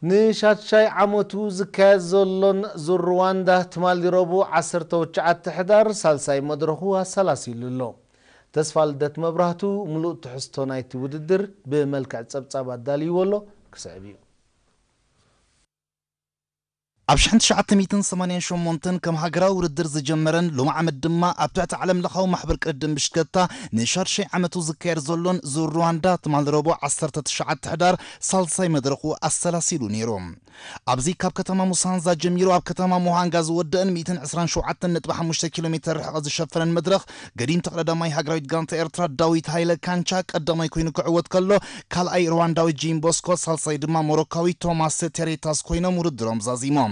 ንሻድሻይ ዓመቱ ዝካየድ ዘሎን ዙር ሩዋንዳ ትማሊ ረቡዕ ዓሰርተ ትሽዓተ ሕዳር ሳልሳይ መድረኹ ኣሰላሲሉ ኣሎ። ተስፋ ልደት መብራህቱ ምሉእ ትሕዝቶ ናይቲ ውድድር ብመልክዕ ጸብጻብ ኣዳልይዎ ኣሎ፣ ክስዕብ እዩ። ኣብ ሽሕን ትሽዓተ ሚእትን ሰማንያን ሸሞንተን ከም ሃገራዊ ውድድር ዝጀመረን ሎም ዓመት ድማ ኣብ ትሕቲ ዓለም ለኻዊ ማሕበር ቅድድም ብሽክለታ ንሻድሻይ ዓመቱ ዝካየድ ዘሎን ዙር ሩዋንዳ ትማል ረቡዕ ዓሰርተ ትሽዓተ ሕዳር ሳልሳይ መድረኹ ኣሰላሲሉ ነይሩ። ኣብዚ ካብ ከተማ ሙሳንዛ ጀሚሩ ኣብ ከተማ ሙሃንጋ ዝወደእን ሚእትን ዕስራን ሸውዓተን ነጥቢ ሓሙሽተ ኪሎ ሜትር ርሕቐት ዝሸፈነን መድረኽ ገዲም ተቐዳዳማይ ሃገራዊት ጋንታ ኤርትራ ዳዊት ሃይለ ካንቻ ቀዳማይ ኮይኑ ክዕወት ከሎ ካልኣይ ሩዋንዳዊ ጂም ቦስኮ፣ ሳልሳይ ድማ ሞሮካዊ ቶማስ ቴሬታስ ኮይኖም ውድድሮም ዛዚሞም።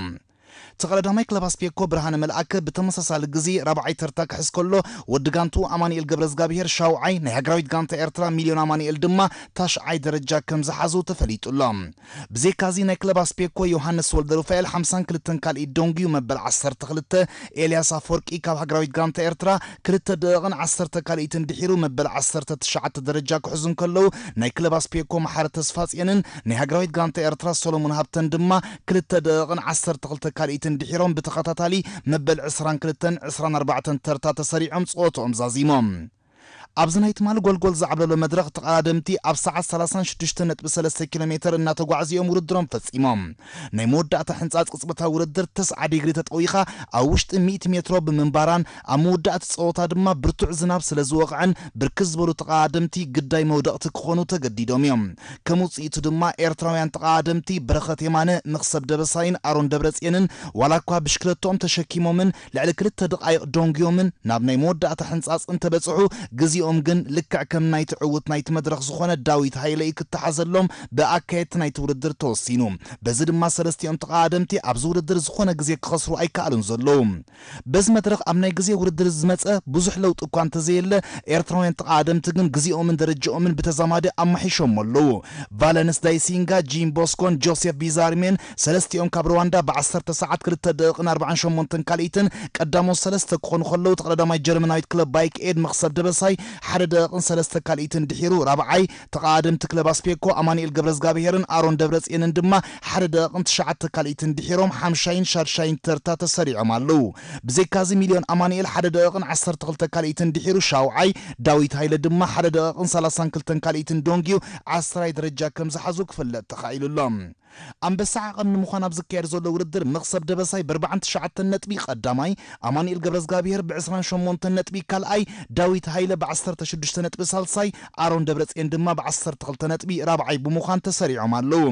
ተቐዳዳማይ ክለብ ኣስፔኮ ብርሃነ መልኣከ ብተመሳሳሊ ግዜ ራብዓይ ተርታ ክሕዝ ከሎ፣ ወዲ ጋንቱ ኣማኑኤል ገብረዝጋብሄር ሻውዓይ፣ ናይ ሃገራዊት ጋንታ ኤርትራ ሚልዮን ኣማኑኤል ድማ ታሽዓይ ደረጃ ከም ዝሓዙ ተፈሊጡ ኣሎ። ብዘይካዚ ናይ ክለብ ኣስፔኮ ዮሃንስ ወልደሩፋኤል ሓምሳን ክልተን ካልኢት ደንጉዩ መበል ዓሰርተ ክልተ፣ ኤልያስ ኣፈወርቂ ካብ ሃገራዊት ጋንታ ኤርትራ ክልተ ደቂቕን ዓሰርተ ካልኢትን ድሒሩ መበል ዓሰርተ ትሽዓተ ደረጃ ክሕዙ እንከለዉ፣ ናይ ክለብ ኣስፔኮ መሓሪ ተስፋጽዮንን ናይ ሃገራዊት ጋንታ ኤርትራ ሰሎሞን ሃብተን ድማ ክልተ ደቂቕን ዓሰርተ ክልተ ካልኢትን ድሒሮም ብተኸታታሊ መበል ዕስራን ክልተን ዕስራን ኣርባዕተን ተርታ ተሰሪዖም ጸወትኦም ዛዚሞም። ኣብዚ ናይ ትማሊ ጎልጎል ዝዓብለሎ መድረኽ ተቐዳደምቲ ኣብ ሰዓት ሰላሳን ሽዱሽተ ነጥቢ ሰለስተ ኪሎ ሜትር እናተጓዕዙ እዮም ውድድሮም ፈጺሞም። ናይ መወዳእታ ሕንጻጽ ቅጽበታዊ ውድድር ተስዓ ዲግሪ ተጠዊኻ ኣብ ውሽጢ ሚእቲ ሜትሮ ብምንባራን ኣብ መወዳእቲ ጸወታ ድማ ብርቱዕ ዝናብ ስለ ዝወቕዐን ብርክት ዝበሉ ተቐዳደምቲ ግዳይ መውደቕቲ ክኾኑ ተገዲዶም እዮም። ከም ውጽኢቱ ድማ ኤርትራውያን ተቐዳደምቲ በረኸት የማነ፣ መኽሰብ ደበሳይን ኣሮን ደብረጽዮንን ዋላ እኳ ብሽክለትኦም ተሸኪሞምን ልዕሊ ክልተ ደቓይቕ ደንጉዮምን ናብ ናይ መወዳእታ ሕንጻጽ እንተበጽሑ፣ ግዜኦም ግን ልክዕ ከም ናይቲ ዕዉት ናይቲ መድረኽ ዝኾነ ዳዊት ሃይለ እዩ ክተሓዘሎም ብኣካየድቲ ናይቲ ውድድር ተወሲኑ። በዚ ድማ ሰለስቲኦም ተቐዳደምቲ ኣብዚ ውድድር ዝኾነ ግዜ ክኸስሩ ኣይከኣሉን ዘለዉ። በዚ መድረኽ ኣብ ናይ ግዜ ውድድር ዝመጸ ብዙሕ ለውጢ እኳ እንተዘየለ፣ ኤርትራውያን ተቐዳደምቲ ግን ግዜኦምን ደረጃኦምን ብተዛማዲ ኣማሒሾሞ ኣለዉ። ቫለንስ ዳይሲንጋ፣ ጂም ቦስኮን ጆሴፍ ቢዛርሜን ሰለስቲኦም ካብ ሩዋንዳ ብዓሰርተ ሰዓት ክልተ ደቂቕን ኣርባዓን ሸሞንተን ካልኢትን ቀዳሞት ሰለስተ ክኾኑ ከለዉ፣ ተቐዳዳማይ ጀርመናዊት ክለብ ባይክ ኤድ መኽሰብ ደበሳይ ሓደ ደቂቕን ሰለስተ ካልኢትን ድሒሩ ራብዓይ፣ ተቐዳደምቲ ክለብ ኣስፔኮ ኣማኑኤል ገብረዝጋብሄርን ኣሮን ደብረጽዮንን ድማ ሓደ ደቂቕን ትሽዓተ ካልኢትን ድሒሮም ሓምሻይን ሻድሻይን ተርታ ተሰሪዖም ኣለዉ። ብዘይካዚ ሚልዮን ኣማኑኤል ሓደ ደቂቕን ዓሰርተ ክልተ ካልኢትን ድሒሩ ሻውዓይ፣ ዳዊት ሃይለ ድማ ሓደ ደቂቕን ሰላሳን ክልተን ካልኢትን ደንጉዩ ዓስራይ ደረጃ ከም ዝሓዙ ክፍለጥ ተኻኢሉ ኣሎ። ኣንበሳ ዓቐን ንምዃን ኣብ ዝካየድ ዘሎ ውድድር መኽሰብ ደበሳይ ብኣርባዓን ትሽዓተን ነጥቢ ቀዳማይ፣ ኣማኑኤል ገብረዝጋብሄር ብዕስራን ሸሞንተን ነጥቢ ካልኣይ፣ ዳዊት ሃይለ ብዓሰርተ ሽዱሽተ ነጥቢ ሳልሳይ፣ ኣሮን ደብረጽዮን ድማ ብዓሰርተ ክልተ ነጥቢ ራብዓይ ብምዃን ተሰሪዖም ኣለዉ።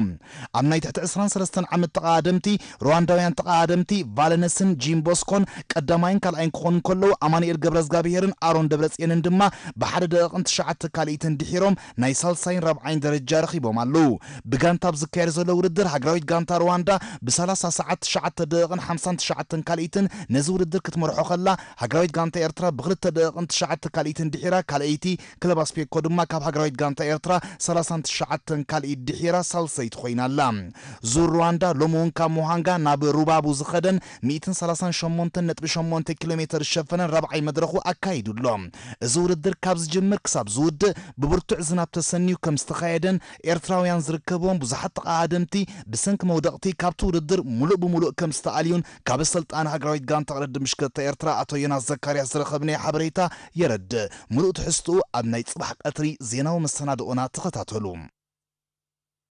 ኣብ ናይ ትሕቲ ዕስራን ሰለስተን ዓመት ተቐዳደምቲ ሩዋንዳውያን ተቐዳደምቲ ቫለነስን ጂምቦስኮን ቀዳማይን ካልኣይን ክኾኑ እንከለዉ፣ ኣማኑኤል ገብረዝጋብሄርን ኣሮን ደብረጽዮንን ድማ ብሓደ ደቂቕን ትሽዓተ ካልኢትን ድሒሮም ናይ ሳልሳይን ራብዓይን ደረጃ ረኺቦም ኣለዉ። ብጋንታ ኣብ ዝካየድ ዘሎ ውድድር ሃገራዊት ጋንታ ሩዋንዳ ብሰላሳ ሰዓት ትሽዓተ ደቂቕን ሓምሳን ትሽዓተን ካልኢትን ነዚ ውድድር ክትመርሖ ከላ፣ ሃገራዊት ጋንታ ኤርትራ ብክልተ ደቂቕን ትሽዓተ ካልኢትን ድሒራ ካልኣይቲ፣ ክለብ ኣስፔኮ ድማ ካብ ሃገራዊት ጋንታ ኤርትራ ሰላሳን ትሽዓተን ካልኢት ድሒራ ሳልሰይቲ ኮይና ኣላ። ዙር ሩዋንዳ ሎሚ እውን ካብ ሙሃንጋ ናብ ሩባቡ ዝኸደን ሚእትን ሰላሳን ሸሞንተን ነጥቢ ሸሞንተ ኪሎ ሜትር ዝሸፈነን ራብዓይ መድረኹ ኣካይዱ ኣሎ። እዚ ውድድር ካብ ዝጅምር ክሳብ ዝውድእ ብብርቱዕ ዝናብ ተሰንዩ ከም ዝተኻየደን ኤርትራውያን ዝርከብዎም ብዙሓት ተቐዳደምቲ ብሰንኪ መውደቕቲ ካብቲ ውድድር ሙሉእ ብሙሉእ ከም ዝተኣልዩን ካብ ኣሰልጣኒ ሃገራዊት ጋንታ ቅድድም ብሽክለታ ኤርትራ ኣቶ ዮናስ ዘካርያስ ዝረኸብናዮ ሓበሬታ የረድእ። ሙሉእ ትሕዝትኡ ኣብ ናይ ጽባሕ ቀትሪ ዜናዊ መሰናድኦና ተኸታተሉ።